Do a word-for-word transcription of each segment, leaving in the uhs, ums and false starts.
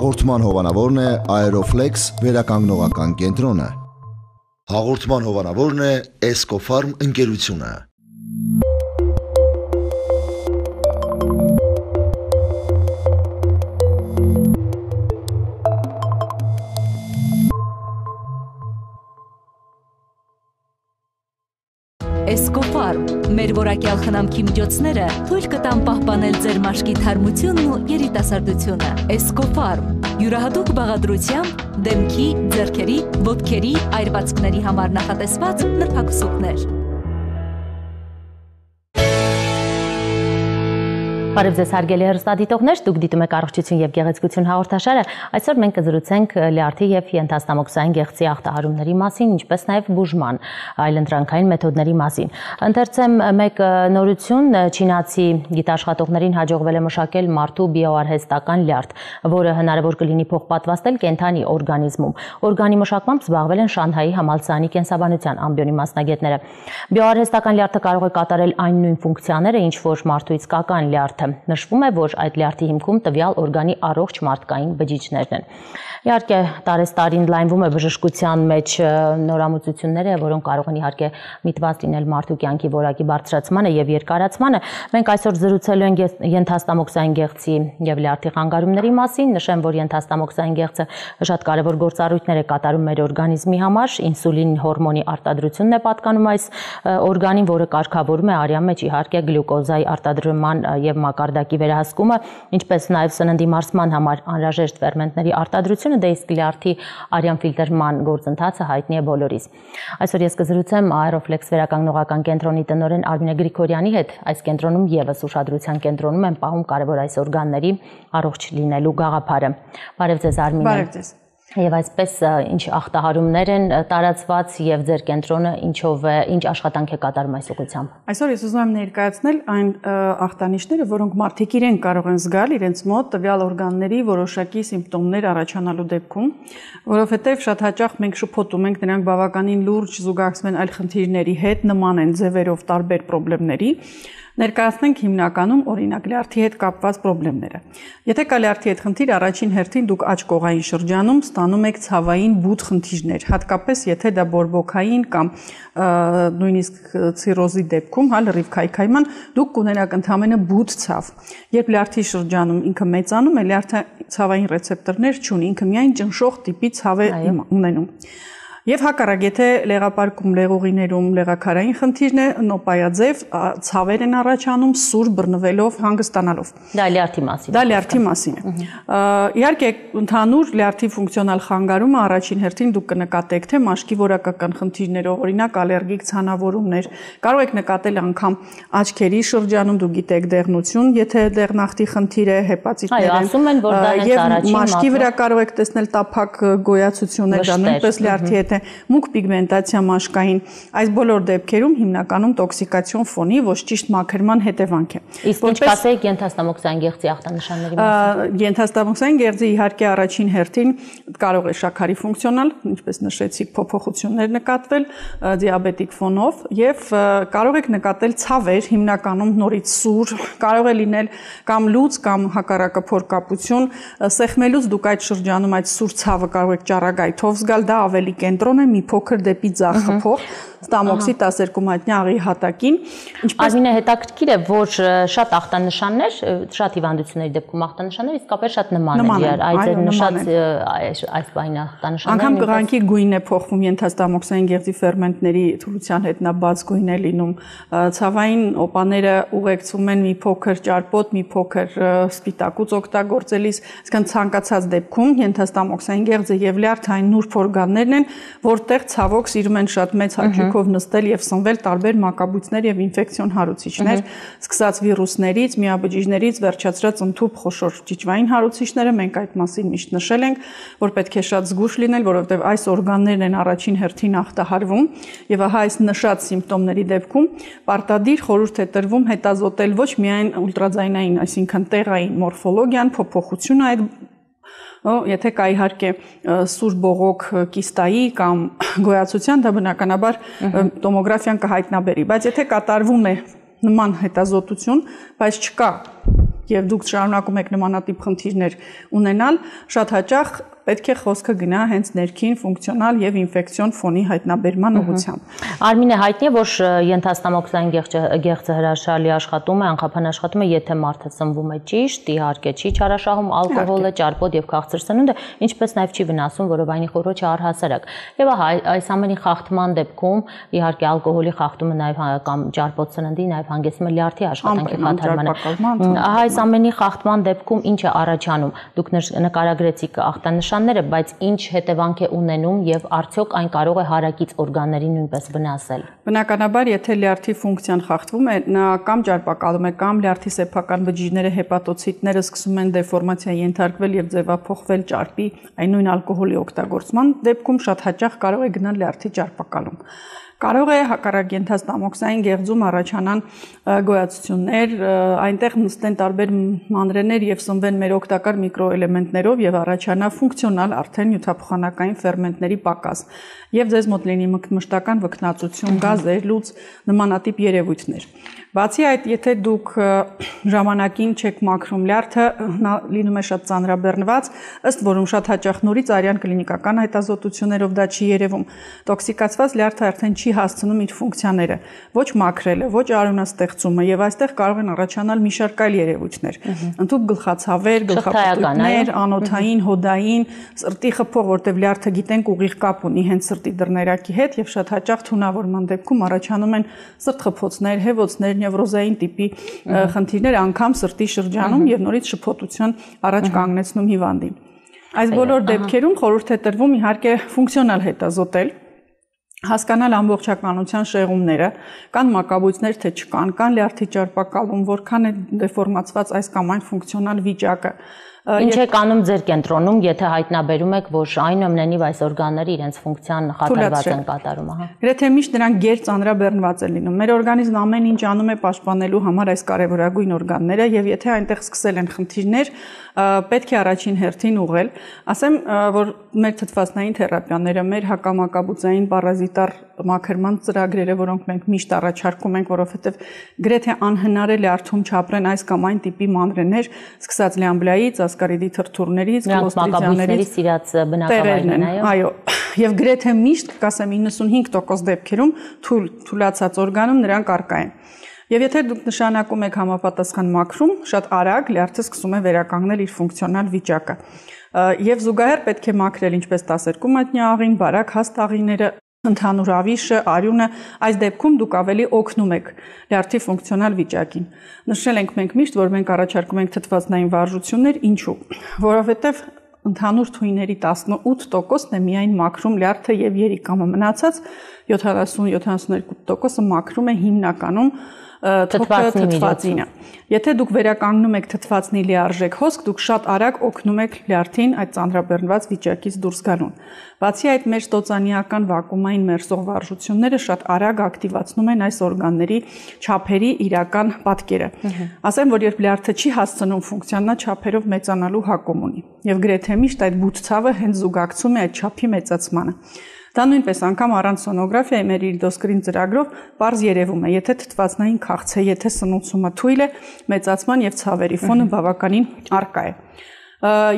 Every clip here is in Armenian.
Հաղորդման հովանավորն է Aeroflex վերականգնողական կենտրոնը։ Հաղորդման հովանավորն է Escofarm ընկերությունը։ Escofarm, մեր որակյալ խնամքի միջոցները թույլ կտան պահպանել ձեր մաշկի թարմությունն ու երիտասարդությունը։ Escofarm, յուրահատուկ բաղադրությամբ դեմքի, ձեռքերի, ոտքերի, այրվածքների համար նախատեսված նրբակսուկներ։ Բարև ձեզ հարգելի հեռուստադիտողներ, դուք դիտում եք առողջություն եւ գեղեցկություն հաղորդաշարը։ Այսօր մենք կզրուցենք լյարդի եւ ենթաստամոքսային գեղձի ախտահարումների մասին, ինչպես նաեւ բուժման այլընտրանքային մեթոդների մասին։ Ընթերցեմ մեկ նորություն, չինացի գիտաշխատողներին հաջողվել է մշակել մարդու բիոարհեստական լյարդ, որը հնարավոր կլինի փոխպատվաստել կենդանի օրգանիզմում։ Օրգանի մշակմամբ զբաղվել են Շանհայի համալսարանի կենսաբանության ամբիոնի մասնագետները։ Բիոարհեստական լյարդը կարող է կատարել այն նույն ֆունկցիաները, ինչ որ մարդու իսկական լյարդը։ Նշվում է, որ այդ լյարդի հիմքում տվյալ օրգանի առողջ մարդկային բջիջներն են։ Իհարկե, տարեստարին լայնվում է բժշկության մեջ նորամուծությունները, որոնք կարող են իհարկե միտված լինել մարդու կյանքի որակի բարձրացմանը եւ երկարացմանը։ Մենք այսօր զրուցելու ենք ենթաստամոքսային գեղձի եւ լյարդի խանգարումների մասին։ Նշեմ, որ ենթաստամոքսային գեղձը շատ կարեւոր գործառույթներ է կատարում մեր օրգանիզմի համար։ Ինսուլին հորմոնի արտադրությունն է պատկանում այս օրգանին, որը կարգավորում է արյան մեջ իհարկե գլյուկոզայի արտադրման եւ մակարդակի վերահսկումը, ինչպես նաև սննդի մարսման համար անհրաժեշտ ֆերմենտների արտադրությունը, դե իսկ լյարդի արյան ֆիլտրման գործընթացը հայտնի է բոլորիս։ Այսօր ես կզրուցեմ Aeroflex վերականգնողական կենտրոնի տնօրեն Արմինե Գրիգորյանի հետ։ Այս կենտրոնում եւս ուշադրության կենտրոնում են պահում կարևոր այս օրգանների առողջ լինելու գաղափարը։ Բարև ձեզ Արմինե։ Բարև ձեզ։ Եվ այսպես ինչ ախտահարումներ են տարածված եւ ձեր կենտրոնը ինչով է, ինչ աշխատանք է կատարում այս ուղղությամբ։ Այսօր ես ուզում եմ ներկայացնել այն ախտանիշները, որոնք մարդիկ իրեն կարող են զգալ իրենց մոտ տվյալ օրգանների որոշակի սիմպտոմներ առաջանալու դեպքում, որովհետեւ շատ հաճախ մենք շփոթում ենք, նրանք բավականին լուրջ զուգակցում են այլ խնդիրների հետ, նման են ձևերով տարբեր խնդիրների։ Ներկայացնենք հիմնականում օրինակ լյարդի հետ կապված խնդիրները։ Եթե կա լյարդի հետ խնդիր, առաջին հերթին դուք աջ կողային շրջանում ստանում եք ցավային բութ խնդիրներ, հատկապես եթե դա բորբոքային կամ նույնիսկ ցիրոզի դեպքում, հա, լրիվ քայքայման, դուք կունենաք ընդհանրապես բութ ցավ։ Երբ լյարդի շրջանում ինքը մեծանում է, լյարդը ցավային ռեցեպտորներ չունի, ինքը միայն ճնշող տիպի ցավ է ունենում։ Եվ հակառակ, եթե լեղապարկում, լեղուղիներում լեղաքարային խնդիրն է, նոպայաձև ցավեր են առաջանում սուր բռնվելով, հանգստանալով։ Դա լյարդի մասին է։ Դա լյարդի մասին է։ Իհարկե, ընդհանուր լյարդի ֆունկցիոնալ խանգարումը առաջին հերթին դուք կնկատեք, թե մաշկի որակական խնդիրներով, օրինակ ալերգիկ ցանավորումներ, կարող եք նկատել անգամ աչքերի շրջանում, դուք գիտեք դեղնություն, եթե դեղնախտի խնդիր է, հեպատիտներ են։ Այո, ասում են, որ դա հենց առաջին մաշկի վրա կարող եք տեսնել տափակ գոյացություններ, դա նույնպես լյարդի հետ մուգ պիգմենտացիա մաշկային, այս բոլոր դեպքերում հիմնականում տոքսիկացիոն ֆոնի ոչ ճիշտ մաքրման հետևանք է։ Իսկ ինչ կասեք ենթաստամոքսային գեղձի ախտանշանների մասին։ Ենթաստամոքսային գեղձի իհարկե առաջին հերթին կարող է շաքարի ֆունկցիոնալ, ինչպես նշեցիք, փոփոխություններ նկատվել դիաբետիկ ֆոնով եւ կարող եք նկատել ցավեր, հիմնականում նորից սուր, կարող է լինել կամ լուծ կամ հակառակը փորկապություն, սեղմելուց դուք այդ շրջանում այդ սուր ցավը կարող եք ճառագայթով զգալ, դա ավելի կենտրոն է, մի փոքր դեպի ձախ խփող ստամոքսի տասներկու մատնյա աղի հատակին։ Այսինքն հետաքրքիր է, որ շատ ախտանշաններ, շատ հիվանդությունների դեպքում ախտանշաններ իսկապես շատ նման են, այդ ձեր նշած այս բային ախտանշանները։ Անգամ կղանքի գույնն է փոխվում ենթաստամոքսային գեղձի ֆերմենտների թուլության հետ, նա բաց գույն է լինում։ Ցավային օպաները ուղեկցում են մի փոքր ճարպոտ, մի փոքր սպիտակուց օգտագործելիս, այսինքն ցանկացած դեպքում ենթաստամոքսային գեղձը եւ լյարդային նուրբ օրգաններն են, որտեղ ցավոք սիրում են շատ մեծ հաճույքով նստել եւ սնվել տարբեր մակաբույծներ եւ ինֆեկցիոն հարուցիչներ, սկսած վիրուսներից, միաբջիջներից, վերջացրած ընդհուպ խոշոր ճիճվային հարուցիչները, մենք այդ մասին միշտ նշել ենք, որ պետք է շատ զգուշ լինել, որովհետեւ այս օրգաններն են առաջին հերթին ախտահարվում եւ ահա այս նշած սիմպտոմների դեպքում պարտադիր խորհուրդ է տրվում հետազոտել ոչ միայն ուլտրաձայնային, այսինքն տեղային մորֆոլոգիան, փոփոխությունը այդ Եթե կա իհարկե սուր բողոք կիստայի կամ գոյացության, դա բնականաբար տոմոգրաֆիան կհայտնաբերի, բայց եթե կատարվում է նման հետազոտություն, բայց չկա եւ դուք շարունակում եք նմանատիպ խնդիրներ ունենալ, շատ հաճախ պետք է խոսքը գնա հենց ներքին ֆունկցիոնալ եւ ինֆեկցիոն ֆոնի հայտնաբերման ուղղությամբ։ Արմինե, հայտնի է, որ ենթաստամոքսային գեղձը հրաշալի աշխատում է, անխափան աշխատում է, եթե մարդը սնվում է ճիշտ, իհարկե չի չարաշահում ալկոհոլը, ճարպոտ եւ քաղցր սնունդը, ինչպես նաեւ չի վնասում որովայնի խոռոչը առհասարակ։ Եվ ահա այս ամենի խախտման դեպքում իհարկե ալկոհոլի խախտումը նաեւ կամ ճարպոտ սննդի նաեւ հանգեցնում է լյարդի աշխատանքի խաթարմանը։ Ահա այս ամենի խախտման դեպքում ինչ է առաջանում։ Դուք նկարագրեցիք ախտանշանները, բայց ինչ հետևանք է ունենում եւ արդյոք այն կարող է հարակից օրգաններին նույնպես վնասել։ Բնականաբար, եթե լյարդի ֆունկցիան խախտվում է, նա կամ ճարպակալում է, կամ լյարդի սեփական բջիջները, հեպատոցիտները սկսում են դեֆորմացիա ենթարկվել եւ ձևափոխվել ճարպի, այն նույն ալկոհոլի օգտագործման դեպքում շատ հաճախ կարող է գնալ լյարդի ճարպակալում։ Կարող է հակառակ ենթաստամոքսային գեղձում առաջանան գոյացություններ, այնտեղ նստեն տարբեր մանրեներ եւ սնվեն մեր օգտակար միկրոէլեմենտներով եւ առաջանա ֆունկցիոնալ արդեն նյութափոխանակային ֆերմենտների պակաս եւ ձեզ մոտ լինի մշտական վքնածություն, գազեր, լուծ նմանատիպ երևույթներ։ Բացի այդ, եթե դուք ժամանակին չեք մաքրում լյարդը, նա լինում է շատ ծանրաբեռնված, ըստ որում շատ հաճախ նորից արյան կլինիկական հետազոտություններով դա չի երևում։ Տոքսիկացված լյարդը արդեն չի հասցնում իր ֆունկցիաները, ոչ մաքրելը, ոչ արյունաստեղծումը եւ այստեղ կարող են առաջանալ մի շարք այլ երևույթներ։ Ընդհանուր գլխացավեր, գլխապտույտներ, անոթային, հոդային, սրտի խփող, որտեղ լյարդը գիտենք ուղիղ կապ ունի հենց սրտի դռներակի հետ եւ շատ հաճախ թունավորման դեպքում առաջանում են սրտխփոցներ, հեվոցներ, նևրոզային տիպի խնդիրներ անգամ սրտի շրջանում եւ նորից շփոթության առաջ կանգնեցնում հիվանդին։ Այս բոլոր դեպքերում խորհուրդ է տրվում իհարկե ֆունկցիոնալ հետազոտել, հասկանալ ամբողջականության շեղումները, կան մակաբույծներ, թե չկան, կան լյարդի ճարպակալում, որքան է դեֆորմացված այս կամ այն ֆունկցիոնալ վիճակը։ Ինչ է կանում ձեր կենտրոնում, եթե հայտնաբերում եք, որ այնուամենայնիվ այս օրգանները իրենց ֆունկցիան խաթարված են կատարում, ահա։ Գրեթե միշտ նրանք գեր ծանրաբեռնված են լինում։ Մեր օրգանիզմն ամեն ինչ անում է պաշտպանելու համար այս կարևորագույն օրգանները, եւ եթե այնտեղ սկսել են խնդիրներ, պետք է առաջին հերթին ուղղել։ Ասեմ, որ մեր թթվածնային թերապիաները, մեր հակամակաբուծային պարազիտար մաքրման ծրագրերը, որոնք մենք միշտ առաջարկում ենք, որովհետև գրեթե անհնար է լյարդում չապրեն այս կամ այն տիպի մանրեներ, սկսած լյամբլայից, ասկարիդի թրթուրներից, կլոստրիդիաներից, իրաց բնակավայրն են, այո, եւ գրեթե միշտ, կասեմ իննսունհինգ տոկոս դեպքերում թույլ թուլացած օրգանում նրանք առկա են։ Եվ եթե դուք նշանակում եք համապատասխան մաքրում, շատ արագ լյարդը սկսում է վերականգնել իր ֆունկցիոնալ վիճակը։ Եվ զուգահեռ պետք է մաքրել ինչպես տասներկու մատնյա աղին, բարակ հաստ աղիները, ընդհանուր ավիշը, արյունը, այս դեպքում դուք ավելի օգնում եք լյարդի ֆունկցիոնալ վիճակին։ Նշել ենք մենք միշտ, որ մենք առաջարկում ենք թթվածնային վարժություններ, ինչու՞։ Որովհետև ընդհանուր թույների տասնութ տոկոսն է միայն մաքրում լյարդը եւ երիկամը, մնացած յոթանասուն յոթանասունյոթ տոկոսը մաքրում է հիմնականում թթվածինը։ Եթե դուք վերականգնում եք թթվածնի լիարժեք հոսք, դուք շատ արագ օգնում եք լյարդին այդ ծանրաբեռնված վիճակից դուրս գալուն։ Բացի այդ, մեր ստոծանիական վակուումային մերսող վարժությունները շատ արագ ակտիվացնում են այս օրգանների չափերի իրական պատկերը։ Ասեմ, որ երբ լյարդը չի հասցնում ֆունկցիան, նա չափերով մեծանալու հակում ունի։ Եվ գրեթե միշտ այդ բութ ցավը հենց զուգակցում է այդ չափի մեծացմանը։ Դա նույնպես անգամ առանց սոնոգրաֆիայի մեր իլդոսկրին ծրագրով պարզ երևում է, եթե թթվածնային քաղց է, եթե սնուցումը թույլ է, մեծացման եւ ցավերի ֆոնը բավականին առկա է։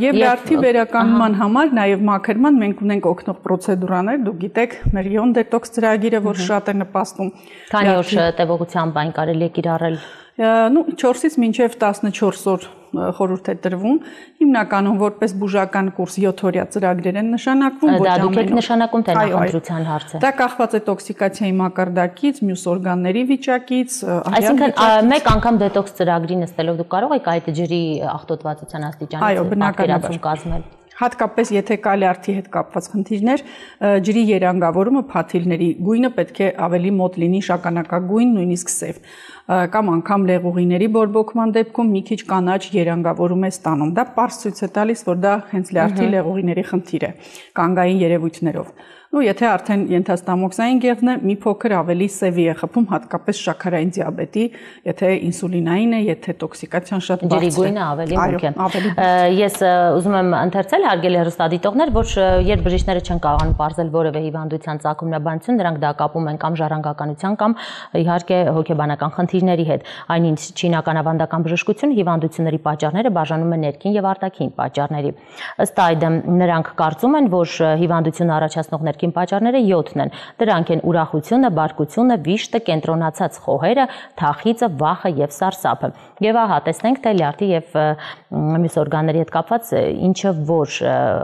Եվ լյարդի վերականգնման համար նաև մաքրման մենք ունենք օգնող պրոցեդուրաներ, դուք գիտեք, մեր իոն դետոքս ծրագիրը, որ շատ է նպաստում։ Քանի օր տևողությամբ այն կարելի է կիրառել։ Ну, չորսից մինչև տասնչորս օր խորհուրդ է տրվում, հիմնականում որպես բուժական կուրս յոթ օրյա ծրագրեր են նշանակվում, ոչ ամեն օր։ Դա դուք եք նշանակում, թե նախընտրության հարցը։ Դա կախված է տոքսիկացիայի մակարդակից, մյուս օրգանների վիճակից, այսինքն մեկ անգամ դետոքս ծրագրի նստելով դուք կարող եք այդ ջրի աղտոտվածության աստիճանից պատկերացում կազմել։ Հատկապես եթե կա լյարդի հետ կապված խնդիրներ, ջրի երանգավորումը փաթիլների գույնը պետք է ավելի մոտ լինի շագանակագույն, նույնիսկ սև, կամ անգամ լեղուղիների բորբոքման դեպքում մի քիչ կանաչ երանգավորում է ստանում։ Դա պարզ ցույց է տալիս, որ դա հենց լյարդի լեղուղիների խնդիր է, կանգային երևույթներով։ Ну, եթե արդեն ենթաստամոքսային գեղձն է, մի փոքր ավելի սևի է խփում, հատկապես շաքարային դիաբետի, եթե ինսուլինային է, եթե տոքսիկացիան շատ բարձր է։ Ջրի գույնը ավելի մուգ է։ Ես ուզում եմ ընթերցել հարգելի հեռուստադիտողներ, որ երբ բժիշկները չեն կարողանում պարզել որևէ հիվանդության ծագումնաբանություն, նրանք դա կապում են կամ ժառանգականության կամ իհարկե հոգեբանական խնդիրների խնդիրների հետ։ Այնինչ չինական ավանդական բժշկությունը հիվանդությունների պատճառները բաժանում է ներքին եւ արտաքին պատճառների։ Ըստ այդմ նրանք կարծում են, որ հիվանդությունը առաջացնող ներքին պատճառները յոթն են։ Դրանք են ուրախությունը, բարկությունը, վիշտը, կենտրոնացած խոհերը, թախիծը, վախը եւ սարսափը։ Եվ ահա տեսնենք, թե լյարդի եւ մյուս օրգանների հետ կապված ինչը որ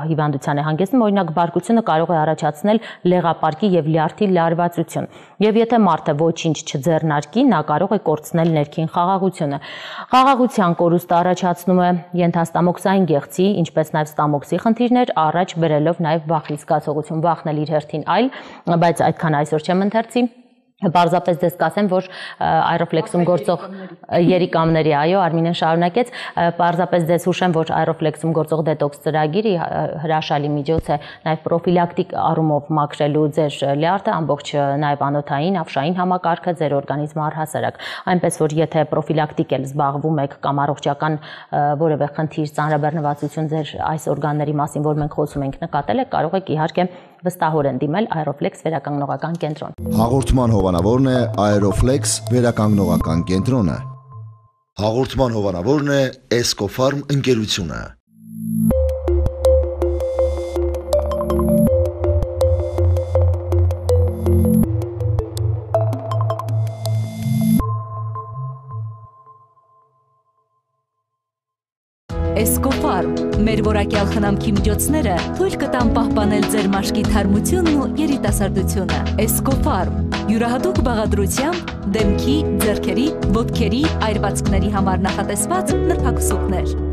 հիվանդության է հանգեցնում, օրինակ բարկությունը կարող է առաջացնել լեղապարկի եւ լյարդի լարվածություն։ Եվ եթե մարդը ոչինչ չձեռնարկի, նա կարող է կորցնել ներքին խաղաղությունը։ Խաղաղության կորուստը առաջացնում է ենթաստամոքսային գեղձի, ինչպես նաեւ ստամոքսի խնդիրներ, առաջ բերելով նաեւ վախի զգացողություն, վախն էլ իր հերթին այլ, բայց այդքան այսօր չեմ ընթերցի։ Պարզապես դες կասեմ, որ Aeroflex-ում գործող երիկամների, այո, Արմինեն շարունակեց, պարզապես դες հուշեմ, որ Aeroflex-ում գործող դետոքս ծրագիրը հրաշալի միջոց է նաև պրոֆիլակտիկ առումով մաքրելու ձեր լյարդը, ամբողջ նաև անոթային, ավշային համակարգը, ձեր օրգանիզմը առհասարակ։ Այնպես որ եթե պրոֆիլակտիկ էլ զբաղվում եք կամ առողջական որևէ խնդիր, ծանրաբեռնվածություն ձեր այս օրգանների մասին, որ մենք խոսում ենք, նկատել եք, կարող եք իհարկե վստահորեն դիմել Aeroflex վերականգնողական կենտրոն։ Հաղորդման հովանավորն է Aeroflex վերականգնողական կենտրոնը։ Հաղորդման հովանավորն է Escofarm ընկերությունը։ Escofarm մեր որակյալ խնամքի միջոցները թույլ կտան պահպանել ձեր մաշկի թարմությունն ու երիտասարդությունը։ Escofarm յուրահատուկ բաղադրությամբ դեմքի, ձեռքերի, ոտքերի, այրվածքների համար նախատեսված նրբակսուկներ։